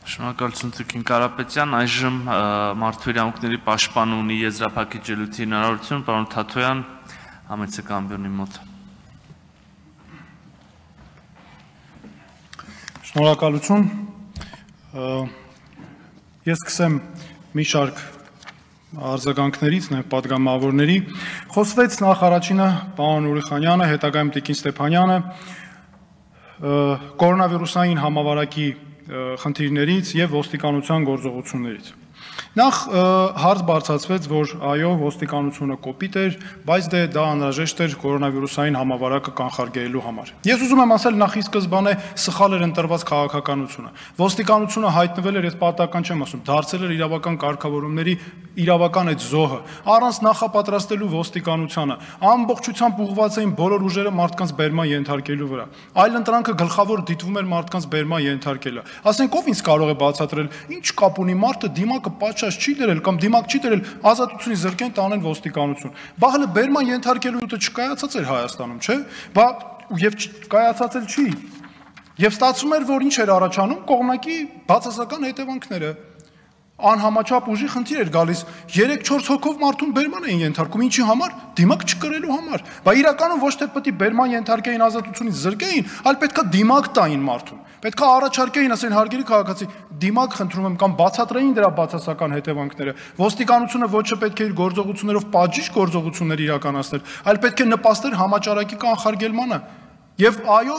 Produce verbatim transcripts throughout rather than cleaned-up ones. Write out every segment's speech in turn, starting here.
Շնորհակալություն Տիկին Կարապետյան, այժմ մարդու իրավունքների պաշտպանը ունի եզրափակիչ ելույթի հնարավորություն, պարոն Թաթոյան, համեցեք ամբիոնի մոտ։ Շնորհակալություն։ Ես սկսեմ մի շարք արձագանքներից, նաև պատգամավորների։ Խոսվեց նախ առաջինը պարոն Ուրիխանյանը, հետագայում Տիկին Ստեփանյանը կորոնավիրուսային համավարակի խնդիրներից եւ ոստիկանության գործողություններից։ Նախ հարց բարձրացվեց, որ այո, ոստիկանությունը կոպիտ էր, բայց դե դա անհրաժեշտ էր կորոնավիրուսային համավարակը կանխարգելելու համար։ Ես ուզում եմ ասել նախ ի սկզբանե սխալ էր ընտրված քաղաքականությունը։ Ոստիկանությունը հայտնվել էր, ես պատահական չեմ ասում, դարձել էր իրավական կարգավորումների իրավական այդ զոհը, առանց նախապատրաստելու ոստիկանությանը, ամբողջությամբ ուղղված էին բոլոր ուժերը մարդկանց բերման ենթարկելու վրա։ Այլ ընտրանքը գլխավոր դիտվում էր մարդկանց բերման ենթարկելը։ Ասենք ով ինձ կարող է բացատրել, ինչ կապ ունի մարդը դիմակը պատշաճ չի դրել կամ դիմակ չի դրել, ազատությունից զրկեն տանեն ոստիկանություն։ Բա հələ բերման ենթարկելու ուտը չկայացած էր Հայաստանում, չէ՞։ Բա եւ կայացած էլ չի։ Եվ ստացվում էր, որ ինչ էր առաջանում, կողմնակի բացասական հետևանքները։ Անհամաչափ ուժի խնդիր էր գալիս, երեք-չորս հոգով մարդուն բերման էին ենթարկում, ինչի համար, դիմակ չկրելու համար։ Բա իրականում ոչ թե պետք է բերման ենթարկեին ազատությունից զրկեին, այլ պետքա դիմակ տային մարդուն։ Պետքա առաջարկեին, ասեն հարգելի քաղաքացի, դիմակ խնդրում եմ կամ բացատրեին դրա բացասական հետևանքները։ Ոստիկանությունը ոչ թե պետք է իր գործողություններով պատժիչ գործողություններ իրականացներ, այլ պետք է նպաստեր համաճարակի կանխարգելմանը։ Եվ այո,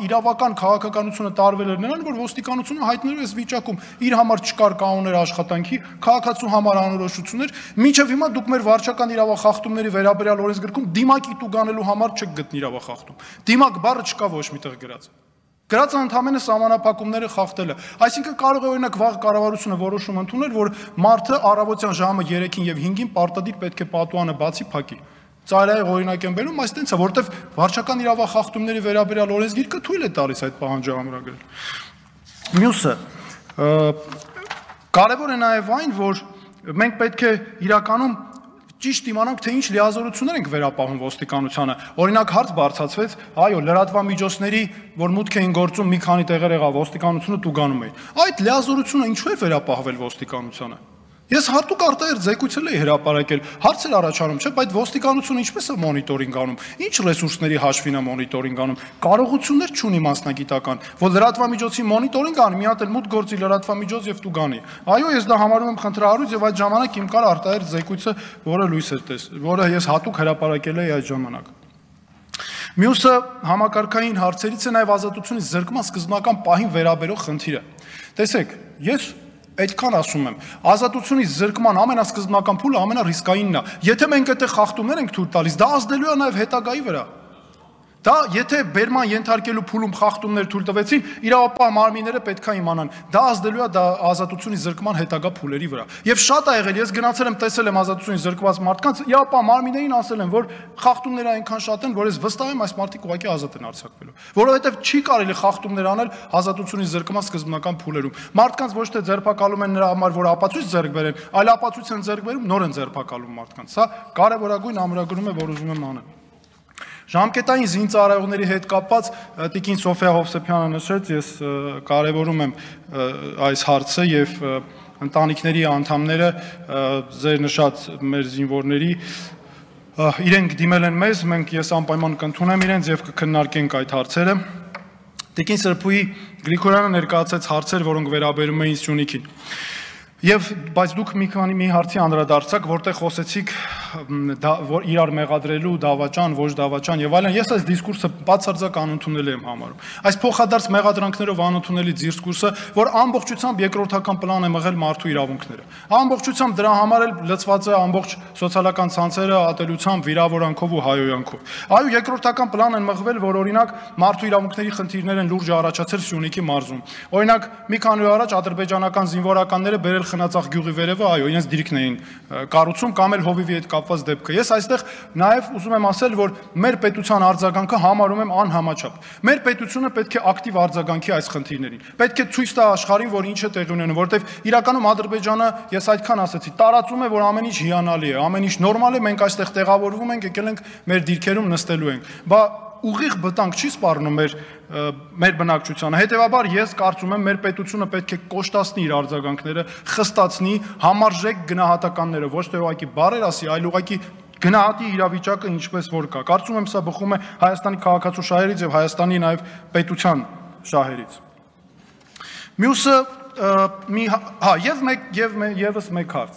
իրավական քաղաքականությունը տարվել էր նրան, որ ոստիկանությունը հայտնելու այս վիճակում իր համար չկար կանոններ աշխատանքի, քաղաքացու համար անորոշություններ, մինչև հիմա դուք մեր վարչական իրավախախտումների վերաբերյալ օրենսգրքում դիմակի տուգանելու համար չեք գտնի իրավախախտում։ Դիմակ բառը չկա ոչ միտեղ գրած։ Գրած ընդհանրապես սահմանափակումները խախտելը։ Այսինքն կարող է օրինակ վաղ կառավարությունը որոշում ընդունել, որ մարդը առավոտյան ժամը երեքին եւ հինգին պարտադիր պետք է պատուանը բացի փակի։ Ծայրահեղ օրինակ եմ բերում, այս տենց է, որովհետև վարչական իրավախախտումների վերաբերյալ օրենսգիրքը թույլ է տալիս այդ պահանջը ամրագրել։ Մյուսը, կարևոր է նաև այն, որ մենք պետք է իրականում ճիշտ իմանանք, թե ինչ լիազորություններ ենք վերապահում ոստիկանությանը։ Օրինակ հարց բարձրացվեց, այո, լրատվամիջոցների, որ մուտք էին գործում մի քանի տեղեր եղավ, ոստիկանությունը տուգանում էր։ Այդ լիազորությունը ինչու է վերապահվել ոստիկանությանը։ Ես հատուկ արտահերթ զեկույցել էի հրապարակել, հարցեր առաջանում, չէ՞, բայց ոստիկանությունը ինչպես է մոնիտորինգ անում, ինչ ռեսուրսների հաշվին է մոնիտորինգ անում, կարողություններ չունի մասնագիտական, որ լրատվամիջոցի մոնիտորինգ անի, մի հատ էլ մուտք գործի լրատվամիջոց եւ տուգանի։ Այո, ես դա համարում եմ խնդրահարույց եւ այդ ժամանակ իմ կար արտահերթ զեկույցը, որը լույս էր տես, որը ես հատուկ հրապարակել էի այդ ժամանակ։ Մյուսը համակարգային հարցերից է նաեւ ազատությունից զրկման սկզբնական պահին վերաբերող խնդիրը։ Տեսեք, ես այդքան ասում եմ, ազատությունից զրկման ամենասկզբնական փուլը ամենառիսկայինն է։ Եթե մենք այդտեղ խախտումներ ենք թույլ տալիս, դա ազդելու է նաև հետագայի վրա։ Դա եթե բերման ենթարկելու փուլում խախտումներ թույլ տվեցին, իրավապահ մարմինները պետք է իմանան, դա ազդելու է դա ազատությունից զրկման հետագա փուլերի վրա։ Եվ շատ ա եղել, ես գնացել եմ, տեսել եմ ազատությունից զրկված մարդկանց, իրավապահ մարմիններին ասել եմ, որ խախտումները այնքան շատ են, որ ես վստահ եմ այս մարդիկ ուղղակի ազատ են արձակվելու, որովհետև չի կարելի խախտումներ անել ազատությունից զրկման սկզբնական փուլերում։ Մարդկանց ոչ թե ձերբակալում են նրա համար, որ ապացույց ձեռք բերեն, այլ ապացույց են ձեռք բերում, նոր են ձերբակալում մարդկանց։ Սա կարևորագույն ամրագրում է, որ ուզում եմ անել։ Ժամկետային զինծառայողների հետ կապված Տիկին Սոֆիա Հովսեփյանը նշեց, ես կարևորում եմ այս հարցը եւ ընտանիքների անդամները ձեր նշած մեր զինվորների իրենք դիմել են մեզ, մենք ես անպայման կընդունեմ իրենց եւ կքննարկենք այդ հարցերը։ Տիկին Սրբուհի Գրիգորյանը ներկայացրեց հարցեր, որոնք վերաբերում էին Սյունիքին։ Եվ բայց դուք մի քանի մի հարցի անդրադարձաք, որտեղ խոսեցիք որ իրար մեղադրելու դավաճան, ոչ դավաճան եւ այլն, ես այս դիսկուրսը բացարձակ անընդունելի եմ համարում։ Այս փոխադարձ մեղադրանքներով անընդունելի դիսկուրսը, որ ամբողջությամբ երկրորդական պլան է մղել մարդու իրավունքները։ Ամբողջությամբ դրա համար էլ լծված է ամբողջ սոցիալական ցանցերը ատելությամբ, վիրավորանքով ու հայոյանքով։ Այո, երկրորդական պլան են մղվել, որ օրինակ մարդու իրավունքների խնդիրներ են լուրջ առաջացել Սյունիքի մարզում։ Օրինակ, մի քանի օր առաջ ադրբեջանական զինվորականները բերել Խնածախ գյուղի վերևը, այո, իրենց դիրքն էին կառուցում կամ էլ հովիվի հետ կապված դեպքը։ Ես այստեղ նաև ուզում եմ ասել, որ մեր պետության արձագանքը համարում եմ անհամաչափ։ Մեր պետությունը պետք է ակտիվ արձագանքի այս խնդիրներին։ Պետք է ցույց տա աշխարհին, որ ինչ է տեղի ունենում, որովհետև իրականում Ադրբեջանը, ես այդքան ասեցի, տարածում է, որ ամեն ինչ հիանալի է, ամեն ինչ նորմալ է, մենք այստեղ տեղավորվում ենք, եկել ենք մեր դիրքերում նստելու ենք։ Բա ուղիղ վտանգ չի սպառնում մեր մեր բնակչությանը։ Հետևաբար ես կարծում եմ մեր պետությունը պետք է կոշտացնի իր արձագանքները, խստացնի, համարժեք գնահատականները, ոչ թե ուղղակի բառեր ասի, այլ ուղղակի գնահատի իրավիճակը ինչպես որ կա։ Կարծում եմ սա բխում է Հայաստանի քաղաքացու շահերից եւ Հայաստանի նաեւ պետության շահերից։ Մյուսը մի հա եւ մեկ եւ եւս մեկ հարց։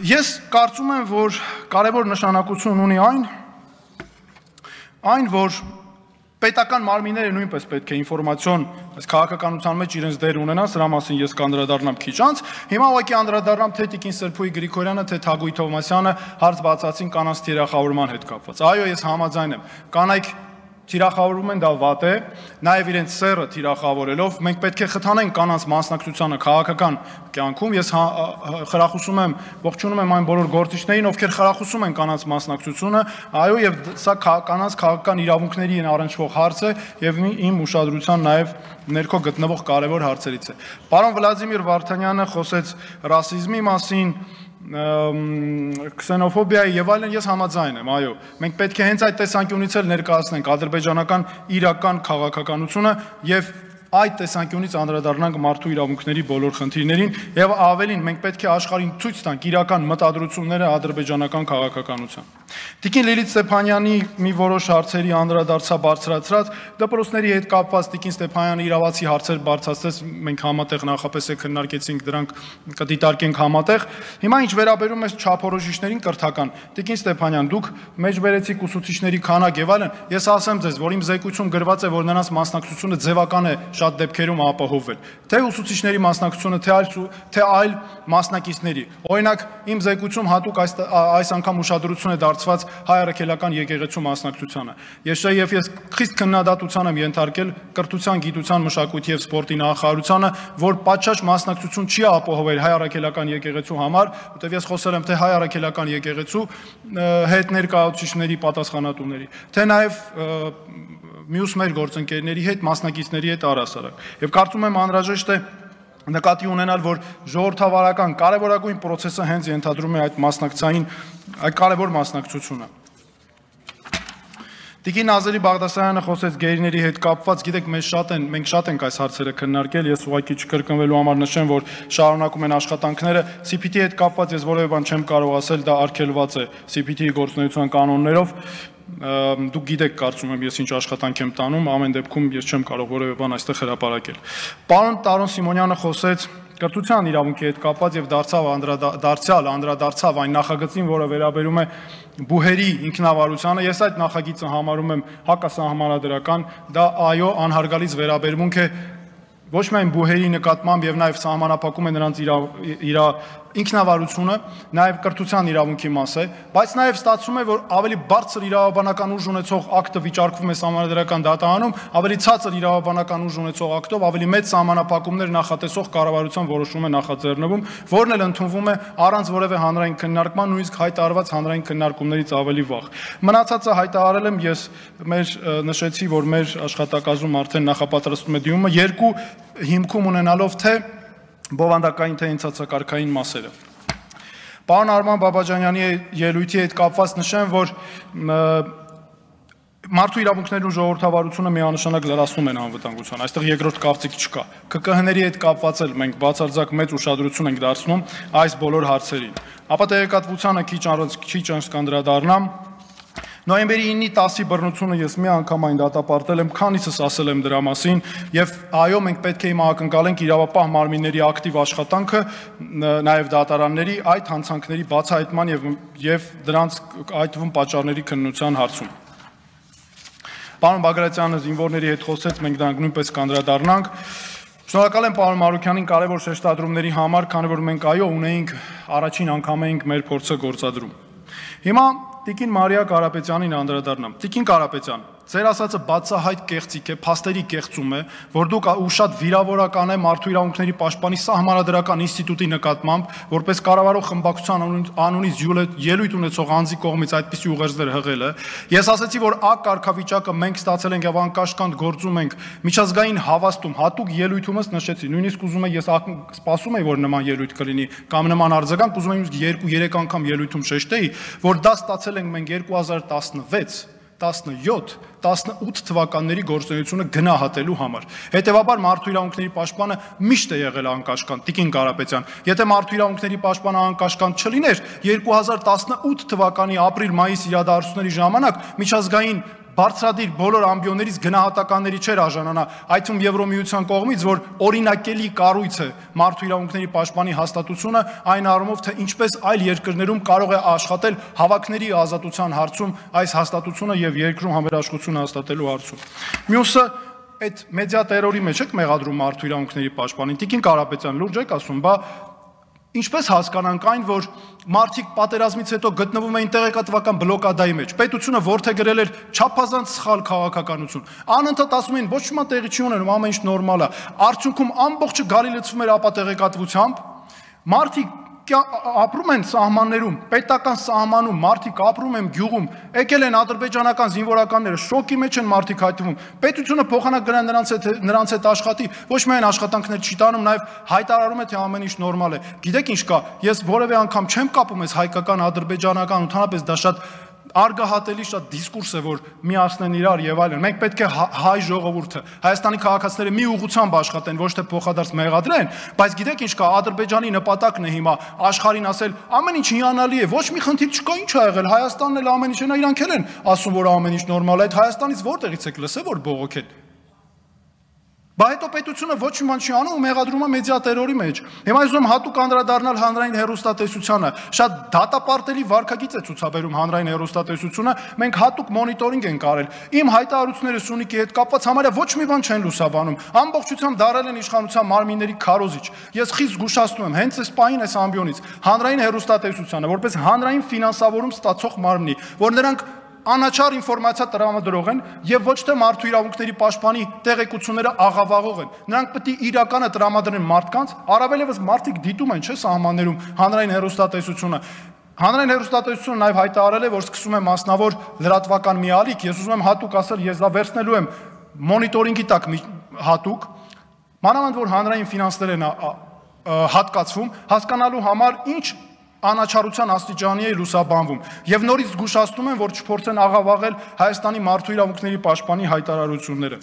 Ես կարծում եմ, որ կարևոր նշանակություն ունի այն, այն որ պետական մարմինները նույնպես պետք է ինֆորմացիոն այս քաղաքականության մեջ իրենց դեր ունենան, սրա մասին ես կանդրադառնամ քիչ անց։ Հիմա ուղղակի անդրադառնամ թե Տիկին Սրփուի Գրիգորյանը, թե Թագուհի Թովմասյանը հարց բացացին կանանց թիրախավորման հետ կապված։ Այո, ես համաձայն եմ։ Կանայք թիրախավորում են, դա վատ է, նաև իրենց սեռը թիրախավորելով, մենք պետք է խթանենք կանանց մասնակցությանը քաղաքական կյանքում։ Ես խրախուսում եմ, ողջունում եմ այն բոլոր գործիչներին, ովքեր խրախուսում են կանանց մասնակցությունը, այո, եւ սա կանանց քաղաքական իրավունքների առնչվող հարց է եւ իմ ուշադրության նաև ներքո գտնվող կարևոր հարցերից է։ Պարոն Վլադիմիր Վարդանյանը խոսեց ռասիզմի մասին, քսենոֆոբիայի եւ այլն, ես համաձայն եմ, այո, մենք պետք է հենց այդ տեսանկյունից էլ ներկայացնենք ադրբեջանական իրական քաղաքականությունը եւ այդ տեսանկյունից անդրադառնանք մարդու իրավունքների բոլոր խնդիրներին եւ ավելին մենք պետք է աշխարհին ցույց տանք իրական մտադրությունները ադրբեջանական քաղաքականության։ Տիկին Լիլիթ Ստեփանյանի մի որոշ հարցերի անդրադարձա բարձրացրած, դպրոցների հետ կապված Տիկին Ստեփանյանը իրավացի հարցեր բարձրացրեց, մենք համատեղ նախապես է քննարկեցինք դրանք, կդիտարկենք համատեղ։ Հիմա ինչ վերաբերում է չափորոշիչներին կրթական, Տիկին Ստեփանյան, դուք մեջբերեցիք ուսուցիչների քանակ եւ այլն, ես ասեմ ձեզ, որ իմ զեկույցում գրված է, որ նրանց մասնակցությունը ձևական է շատ դեպքերում ապահովել, թե ուսուցիչների մասնակցությունը, թե այլ թե այլ մասնակիցների։ Օրինակ, իմ զեկույցում հատուկ այս այս անգամ ուշադրություն է դարձված հայ առաքելական եկեղեցու մասնակցությանը։ Ես եւ ես խիստ քննադատության եմ ենթարկել կրթության, գիտության, մշակույթի եւ սպորտի նախարարությանը, որ պատշաճ մասնակցություն չի ապահովել հայ առաքելական եկեղեցու համար, որտեղ ես խոսել եմ թե հայ առաքելական եկեղեցու հետ ներկայացուցիչների պատասխանատուների, թե նաեւ մյուս մեր գործընկերների հետ, մասնակիցների հետ առասարակ։ Եվ կարծում եմ անհրաժեշտ է նկատի ունենալ, որ ժողովրդավարական կարևորագույն process-ը հենց ենթադրում է այդ մասնակցային, այդ կարևոր մասնակցությունը։ Տիկին Ազելի Բաղդասարյանը խոսեց գերիների հետ կապված, գիտեք, մեզ շատ են, մենք շատ ենք այս հարցերը քննարկել, ես ուղղակի չկրկնվելու համար նշեմ, որ շարունակում են աշխատանքները, C P T-ի հետ կապված ես որևէ բան չեմ կարող ասել, դա արգելված է C P T-ի գործունեության կանոններով։ Դուք գիտեք, կարծում եմ, ես ինչ աշխատանք եմ տանում, ամեն դեպքում ես չեմ կարող որևէ բան այստեղ հրապարակել։ Պարոն Տարոն Սիմոնյանը խոսեց կրթության իրավունքի հետ կապված եւ դարձավ անդրադարձյալ անդրադարձավ այն նախագծին, որը վերաբերում է բուհերի ինքնավարությանը։ Ես այդ նախագիծը համարում եմ հակասահմանադրական, դա այո անհարգալից վերաբերմունք է ոչ միայն բուհերի նկատմամբ եւ նաեւ սահմանափակում է նրանց իր ինքնավարությունը, նաեւ կրթության իրավունքի մաս է, բայց նաեւ ստացվում է, որ ավելի բարձր իրավաբանական ուժ ունեցող ակտը վիճարկվում է սահմանադրական դատարանում, ավելի ցածր իրավաբանական ուժ ունեցող ակտով ավելի մեծ սահմանափակումներ նախատեսող կառավարության որոշում է նախաձեռնվում, որն էլ ընդունվում է առանց որևէ հանրային քննարկման, նույնիսկ հայտարարված հանրային քննարկումներից ավելի վաղ։ Մնացածը հայտարարել եմ ես, մեր նշեցի, որ մեր աշխատակազմում արդեն նախապատրաստում է դիմումը երկու հիմքում ունենալով թե բովանդակային թե ընթացակարգային մասերը։ Պարոն Արման Բաբաջանյանի ելույթի հետ կապված նշեմ, որ մարդու իրավունքներն ու ժողովրդավարությունը միանշանակ լրացնում են անվտանգության, այստեղ երկրորդ կարծիք չկա։ K K H-ների հետ կապված էլ մենք բացարձակ մեծ ուշադրություն ենք դարձնում այս բոլոր հարցերին։ Ապա տեղեկատվությանը քիչ առանց քիչ անց կանդրադառնամ։ Նոյեմբերի ինը տասի բռնությունը ես մի անգամ այն դատապարտել եմ, քանիցս ասել եմ դրա մասին, եւ այո, մենք պետք է հիմա ակնկալենք իրավապահ մարմինների ակտիվ աշխատանքը, նաեւ դատարանների այդ հանցանքների բացահայտման եւ եւ դրանց այդվում պատճառների քննության հարցում։ Պարոն Բագրատյանը զինվորների հետ խոսեց, մենք դրանք նույնպես կանդրադառնանք։ Շնորհակալ եմ պարոն Մարուքյանին կարևոր շեշտադրումների համար, քանի որ մենք այո ունեինք առաջին անգամ էինք մեր փորձը գործադրում։ Հիմա Տիկին Մարիա Կարապետյանին անդրադառնամ։ Տիկին Կարապետյան, ձեր ասածը բացահայտ կեղծիք է, փաստերի կեղծում է, որ դուք ու շատ վիրավորական է մարդու իրավունքների պաշտպանի սահմանադրական ինստիտուտի նկատմամբ, որպես կառավարող խմբակցության անունից ելույթ ունեցող անձի կողմից այդպիսի ուղերձներ հղելը։ Ես ասացի, որ ակ կարգավիճակը մենք ստացել ենք եւ անկաշկանդ գործում ենք միջազգային հավաստում, հատուկ ելույթումս նշեցի, նույնիսկ ուզում եմ ես սպասում եմ, որ նման ելույթ կլինի կամ նման արձագանք, ուզում եմ երկու երեք անգամ ելույթում շեշտեի, որ դա ստացել ենք մենք երկու հազար տասնվեց տասնյոթ տասնութ թվականների գործունեությունը գնահատելու համար։ Հետևաբար մարդու իրավունքների պաշտպանը միշտ է եղել անկաշկանդ, Տիկին Կարապետյան։ Եթե մարդու իրավունքների պաշտպանը անկաշկանդ չլիներ, երկու հազար տասնութ թվականի ապրիլ-մայիս իրադարձությունների ժամանակ միջազգային բարձրադիր բոլոր ամբիոններից գնահատականների չէր արժանանա, այդ թվում Եվրոմիության կողմից, որ օրինակելի կառույց է մարդու իրավունքների պաշտպանի հաստատությունը, այն առումով, թե ինչպես այլ երկրներում կարող է աշխատել հավաքների ազատության հարցում այս հաստատությունը եւ երկրում համերաշխությունը հաստատելու հարցում։ Մյուսը այդ մեդիա տերորի մեջ եք մեղադրում մարդու իրավունքների պաշտպանին։ Տիկին Կարապետյան, լուրջ եք ասում, բա ինչպես հասկանանք այն, որ մարդիկ պատերազմից հետո գտնվում էին տեղեկատվական բլոկադայի մեջ, պետությունը որդեգրել էր չափազանց սխալ քաղաքականություն, անընդհատ ասում էին ոչ մի տեղի չի ունենում, ամեն ինչ նորմալ է, արդյունքում ամբողջը գալի լցվում էր ապա տեղեկատվությամբ, մարդիկ ապրում են սահմաններում, պետական սահմանում, մարդիկ ապրում են գյուղում, եկել են ադրբեջանական զինվորականները, շոկի մեջ են մարդիկ հայտնվում, պետությունը փոխանակ գնան նրանց հետ նրանց հետ աշխատի, ոչ միայն աշխատանքներ չի տանում, նաև հայտարարում է, թե ամեն ինչ նորմալ է։ Գիտեք ինչ կա, ես որևէ անգամ չեմ կապում ես հայկական, ադրբեջանական, ընդհանրապես դա շատ արգահատելի շատ դիսկուրս է, որ միացնեն իրար եւ այլն։ Մենք պետք է հայ ժողովուրդը, Հայաստանի քաղաքացիները մի ուղղությամբ աշխատեն, ոչ թե փոխադարձ մեղադրեն, բայց գիտեք ինչ կա, Ադրբեջանի նպատակն է հիմա աշխարհին ասել, ամեն ինչ հիանալի է, ոչ մի խնդիր չկա, ինչ ա եղել, Հայաստանն էլ ամեն ինչ է, իրանք էլ են ասում, որ ամեն ինչ նորմալ է, այդ Հայաստանից որտեղից եք լսել, որ բողոքեն։ Բա հետո պետությունը ոչ մի բան չի անում ու մեղադրում է մեդիա տերորի մեջ։ Հիմա ես ուզում հատուկ անդրադառնալ հանրային հեռուստատեսությանը։ Շատ դատապարտելի վարքագիծ է ցուցաբերում հանրային հեռուստատեսությունը։ Մենք հատուկ մոնիտորինգ ենք արել։ Իմ հայտարարությունները Սյունիքի հետ կապված համարյա ոչ մի բան չեն լուսաբանում։ Ամբողջությամբ դարել են իշխանության մարմինների քարոզիչ։ Ես խիստ զգուշացնում եմ, հենց այս պահին այս ամբիոնից հանրային հեռուստատեսությանը, որպես հանրային ֆինանսավորում ստացող մարմնի, որ նրանք անաչառ ինֆորմացիա տրամադրող են եւ ոչ թե մարդու իրավունքների պաշտպանի տեղեկությունները աղավաղող են։ Նրանք պետք է իրականը տրամադրեն մարդկանց, առավել եւս մարդիկ դիտում են, չէ՞, սահմաններում հանրային հեռուստատեսությունը։ Հանրային հեռուստատեսությունը նաեւ հայտարարել է, որ սկսում է մասնավոր լրատվական մի ալիք, ես ուզում եմ հատուկ ասել, ես դա վերցնելու եմ մոնիտորինգի տակ հատուկ, մանավանդ որ հանրային ֆինանսներ են հատկացվում, հասկանալու համար ինչ անաչառության աստիճանի է լուսաբանվում եւ նորից զգուշացնում են, որ չփորձեն աղավաղել Հայաստանի մարդու իրավունքների պաշտպանի հայտարարությունները։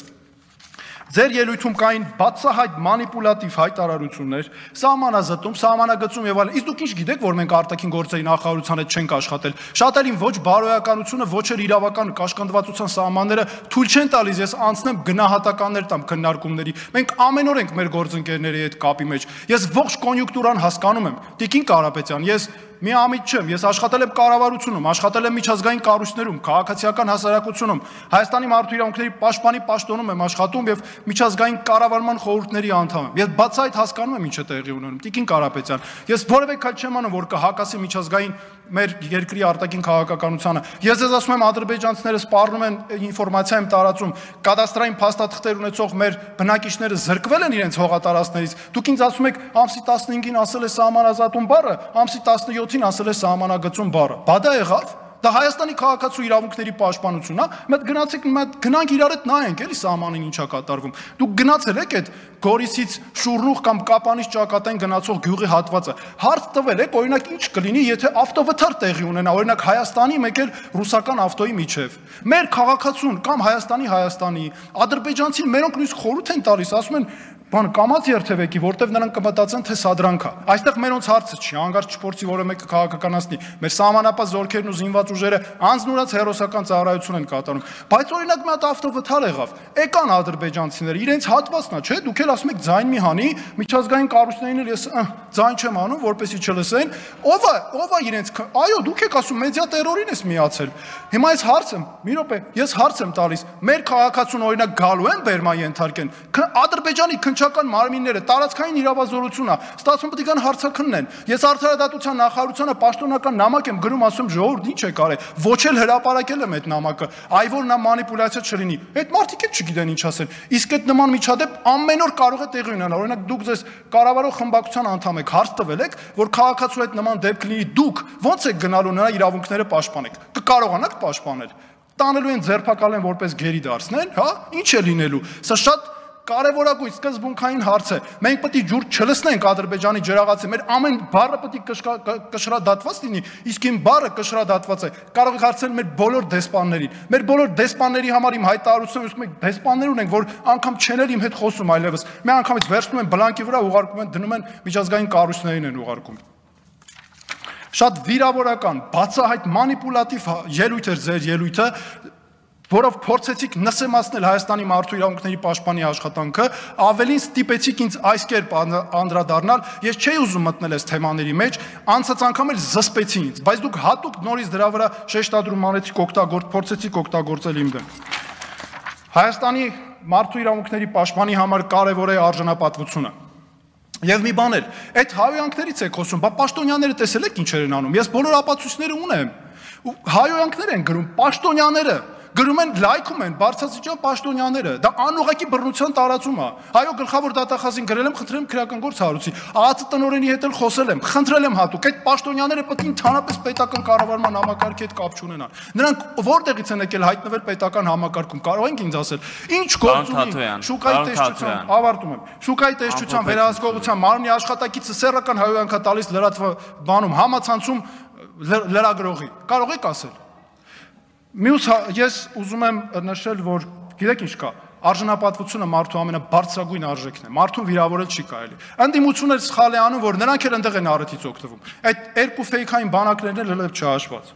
Ձեր ելույթում կային բացահայտ մանիպուլատիվ հայտարարություններ, սահմանազատում, սահմանագծում եւ այլն։ Իսկ դուք ինչ գիտեք, որ մենք արտաքին գործերի նախարարության հետ չենք աշխատել։ Շատ ելին ոչ բարոյականությունը, ոչ էլ իրավական կաշկանդվածության սահմանները թույլ չեն տալիս ես անցնեմ գնահատականներ տամ քննարկումների։ Մենք ամեն օր ենք մեր գործընկերների հետ կապի մեջ։ Ես ողջ կոնյունկտուրան հասկանում եմ։ Տիկին Կարապետյան, ես մի ամիջ չեմ, ես աշխատել եմ կառավարությունում, աշխատել եմ միջազգային կառույցներում, քաղաքացիական հասարակությունում, Հայաստանի մարդու իրավունքների պաշտպանի պաշտոնում եմ աշխատում եւ միջազգային կառավարման խորհուրդների անդամ եմ։ Ես բացահայտ հասկանում եմ ինչ է տեղի ունենում։ Տիկին Կարապետյան, ես որևէ քայլ չեմ անում, որ կհակասի միջազգային մեր երկրի արտաքին քաղաքականությանը։ Ես ձեզ ասում եմ, ադրբեջանցիները սպառնում են, ինֆորմացիա եմ տարածում, կադաստրային փաստաթղթեր ունեցող մեր բնակիչները զրկվել են իրենց հողատարածքներից։ Դուք ինձ ասում եք, ամսի տասնհինգին ասել է սահմանազատում բառը, ամսի տասնյոթին ասել է սահմանագծում բառը։ Բա դա եղավ։ Դա Հայաստանի քաղաքացու իրավունքների պաշտպանությունն է։ Մենք գնացեք, մենք գնանք իրար հետ նայենք, էլի սահմանին ինչա կատարվում։ Դուք գնացել եք այդ Գորիսից Շուռնուղ կամ Կապանից Ճակատային գնացող գյուղի հատվածը։ Հարց տվել եք, օրինակ ինչ կլինի, եթե ավտովթար տեղի ունենա, օրինակ Հայաստանի մեկ էլ ռուսական ավտոյի միջև։ Մեր քաղաքացուն կամ Հայաստանի Հայաստանի, ադրբեջանցին մերոնք նույնիսկ խորհուրդ են տալիս, ասում են բան կամած երթևեկի, որտեվ նրանք կմտածեն, թե սադրանք է։ Այստեղ մերոնց հարցը չի, հանգարց չփորձի որը մեկը քաղաքականացնի։ Մեր սահմանապահ զորքերն ու զինված ուժերը անձնուրաց հերոսական ծառայություն են կատարում։ Բայց օրինակ մի հատ ավտովթար եղավ։ Եկան ադրբեջանցիները, իրենց հատվածն է, չէ՞, դուք էլ ասում եք ձայն մի հանի, միջազգային կառույցներին էլ ես ձայն չեմ անում, որպեսզի չլսեն։ Ո՞վ է, ո՞վ է իրենց, այո, դուք եք ասում մեդիա տերորին ես միացել։ Հիմա ես հարց եմ, մի րոպե, ես հարց եմ տալիս։ Մեր քաղաքացուն օրինակ գալու են Բերման ենթարկեն։ Ադրբեջանի քննչական մարմինները տարածքային իրավազորություն է, ստացվում պետք է կան հարցաքննեն։ Ես արդարադատության նախարարությանը պաշտոնական նամակ եմ գրում, ասում ժողովուրդ ինչ է կարել, ոչ էլ հրապարակել եմ այդ նամակը, այ որ նա մանիպուլյացիա չլինի։ Այդ մարդիկ էլ չգիտեն ինչ ասեն։ Իսկ այդ նման միջադեպ ամեն օր կարող է տեղի ունենալ։ Օրինակ դուք ձեզ կառավարող խմբակցության անդամ եք, հարց տվել եք, որ քաղաքացու այդ նման դեպք լինի, դուք ո՞նց եք գնալու նրա իրավունքները պաշտպանեք։ Կկարողանաք պաշտպանել։ Տանելու են ձերբակալեն որպես գերի դարձնեն, հա, ինչ է լինելու։ Սա շատ կարևորագույն սկզբունքային հարց է։ Մենք պետք է ջուր չլսնենք Ադրբեջանի ջրաղացի, մեր ամեն բառը պետք է կշռադատված լինի, իսկ իմ բառը կշռադատված է։ Կարող եք հարցնել մեր բոլոր դեսպաններին։ Մեր բոլոր դեսպանների համար իմ հայտարարությունը ուզում եք դեսպաններ ունենք, որ անգամ չեն էլ իմ հետ խոսում այլևս։ Մի անգամից վերցնում են բլանկի վրա, ուղարկում են, դնում են միջազգային կառույցներին են ուղարկում։ Շատ վիրավորական, բացահայտ մանիպուլատիվ ելույթ էր ձեր ելույթը, որով փորձեցիք նսեմացնել Հայաստանի մարդու իրավունքների պաշտպանի աշխատանքը, ավելին ստիպեցիք ինձ այս կերպ անդրադառնալ, ես չէի ուզում մտնել այս թեմաների մեջ, անցած անգամ էլ զսպեցի ինձ, բայց դուք հատուկ նորից դրա վրա շեշտադրում անեցիք, օգտագործ փորձեցիք օգտագործել իմ դեմ։ Հայաստանի մարդու իրավունքների պաշտպանի համար կարևոր է արժանապատվությունը։ Եվ մի բան էլ, այդ հայոյանքներից եք խոսում, բա պաշտոնյաները տեսել եք ինչեր են անում, ես բոլոր ապացույցները ունեմ, հայոյանքներ են գրում, պաշտոնյաները գրում են, լայքում են, բարձրացիչան պաշտոնյաները, դա անուղղակի բռնության տարածում է։ Այո, գլխավոր դատախազին գրել եմ, խնդրել եմ քրեական գործ հարուցի, ԱԱԾ տնօրենի հետ էլ խոսել եմ, խնդրել եմ հատուկ, այդ պաշտոնյաները պետք է ընդհանրապես պետական կառավարման համակարգի հետ կապ չունենան։ Նրանք որտեղից են եկել հայտնվել պետական համակարգում, կարող ենք ինձ ասել, ինչ գործ ունի շուկայի տեսչության, ավարտում եմ, շուկայի տեսչության վերահսկողության մարմնի աշխատակիցը սեռական հայոյանքա տալիս լրատվ բանում համացանցում լրագրողի, կարող եք ասել։ Մյուս ես ուզում եմ նշել, որ գիտեք ինչ կա, արժանապատվությունը մարդու ամենաբարձրագույն արժեքն է, մարդուն վիրավորել չի կարելի։ Ընդդիմությունը սխալ է անում, որ նրանք էլ այնտեղ են առիթից օգտվում։ Այդ երկու ֆեյքային բանակներն էլ հենց չհաշված։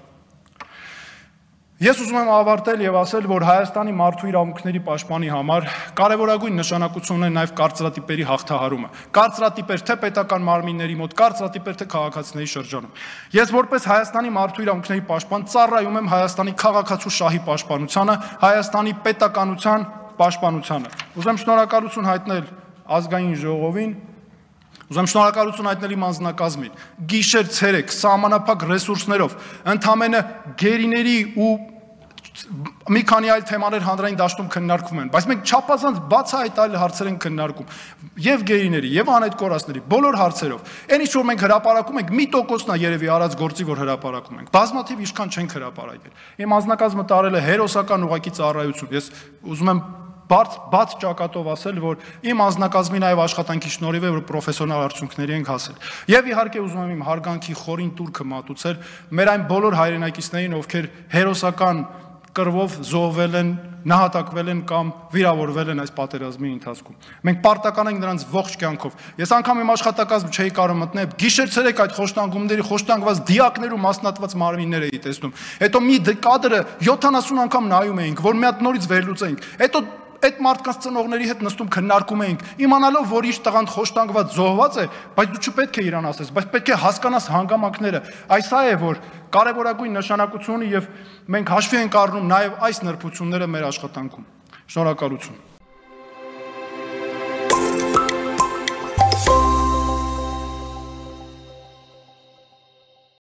Ես ուզում եմ ավարտել եւ ասել, որ Հայաստանի մարդու իրավունքների պաշտպանի համար կարևորագույն նշանակություն ունի նաեւ կարծրատիպերի հաղթահարումը։ Կարծրատիպեր թե պետական մարմինների մոտ, կարծրատիպեր թե քաղաքացիների շրջանում։ Ես որպես Հայաստանի մարդու իրավունքների պաշտպան ծառայում եմ Հայաստանի քաղաքացու շահի պաշտպանությանը, Հայաստանի պետականության պաշտպանությանը։ Ուզում շնորհակալություն հայտնել ազգային ժողովին, ուզում շնորհակալություն հայտնել իմ անձնակազմին։ Գիշեր ցերեկ սահմանափակ ռեսուրսներով, ընդամենը գերիների ու մի քանի այլ թեմաներ հանրային դաշտում քննարկվում են, բայց մենք չափազանց բացահայտ այլ հարցեր ենք քննարկում, եւ գերիների, եւ անհայտ կորածների, բոլոր հարցերով։ Այն ինչ որ մենք հրապարակում ենք, մի տոկոսն է երևի արած գործի, որ հրապարակում ենք։ Բազմաթիվ ինչքան չենք հրապարակել։ Իմ անձնակազմը տարել է հերոսական ուղղակի ծառայություն։ Ես ուզում եմ բաց բաց ճակատով ասել, որ իմ անձնակազմի նաև աշխատանքի շնորհիվ է, որ պրոֆեսիոնալ արդյունքների ենք հասել։ Եվ իհարկե ուզում եմ իմ հարգանքի խորին տուրքը մատուցել մեր այն բոլոր հայրենակիցներին, ովքեր հերոսական կռվով զոհվել են, նահատակվել են կամ վիրավորվել են այս պատերազմի ընթացքում։ Մենք պարտական ենք նրանց ողջ կյանքով։ Ես անգամ իմ աշխատակազմը չէի կարող մտնել, գիշեր-ցերեկ այդ խոշտանգումների, խոշտանգված դիակներու մասնատված մարմիններ էի տեսնում։ Հետո մի կադրը յոթանասուն անգամ նայում էինք, որ մի հատ նորից վերլուծենք։ Հետո այդ մարդկանց ծնողների հետ նստում քննարկում էինք, իմանալով, որ իր տղան խոշտանգված զոհված է, բայց դու չպետք է իրան ասես, բայց պետք է հասկանաս հանգամանքները։ Այս է, որ կարևորագույն նշանակություն ունի եւ մենք հաշվի ենք առնում նաեւ այս նրբությունները մեր աշխատանքում։ Շնորհակալություն։